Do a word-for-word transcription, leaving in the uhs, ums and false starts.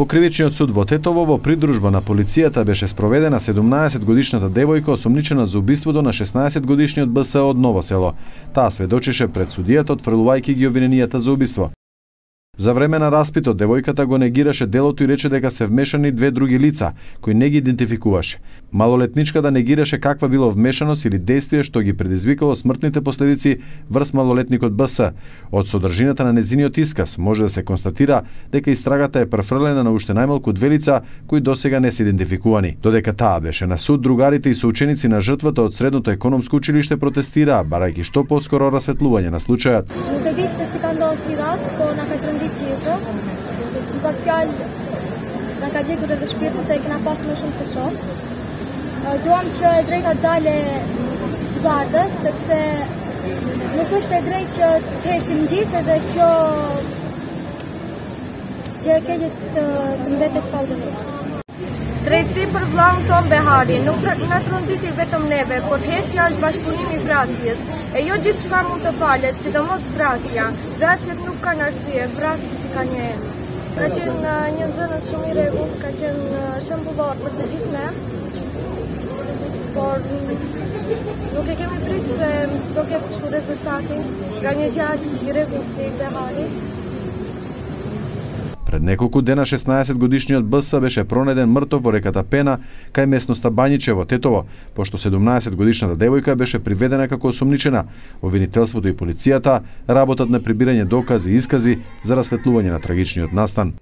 Во кривичниот суд во Тетово во придружба на полицијата беше спроведена седумнаесетгодишната девојка осомничена за убиството на шеснаесетгодишниот Б С од Ново село. Таа сведочеше пред судијата отфрлувајќи ги обвиненијата за убиство. За време на распитот, девојката го негираше делото и рече дека се вмешани две други лица, кои не ги идентификуваше. Малолетничката негираше каква било вмешаност или действие што ги предизвикало смртните последици врз малолетникот Б С. Од содржината на незиниот исказ може да се констатира дека истрагата е префрлена на уште најмалку две лица кои досега не се идентификувани. Додека таа беше на суд, другарите и соученици на жртвата од Средното економско училиште протестираа, барајќи што поскоро расветлување на случајот. Pak fjalë na ka gjetur edhe shpirtin se e kena pas më shumë se shoh. Duam që e drejta dale zbardë, sepse nuk është e drejtë që të heshtim gjithë edhe kjo gjë e keqe të mbetet pa udhëtim. Drejtësi për vllahun ton Behari, nuk na tronditi vetëm neve, por heshtja është bashkëpunimi i vrasjes. E jo gjithçka mund të falet, sidomos vrasja. Vrasjet nuk kanë arsye, vrasjet si kanë një emër. Ka qenë një nxënës shumë i rregullt, ka qenë shembullor për të gjithë ne, por nuk e kemi pritur se do ketë kështu rezultatin nga një gjatë i rregullt si Behari. Пред неколку дена шеснаесетгодишниот Б С беше пронеден мртов во реката Пена кај местноста Бањиче во Тетово, пошто седумнаесетгодишната девојка беше приведена како осомничена. Обвинителството и полицијата работат на прибирање докази и искази за расветлување на трагичниот настан.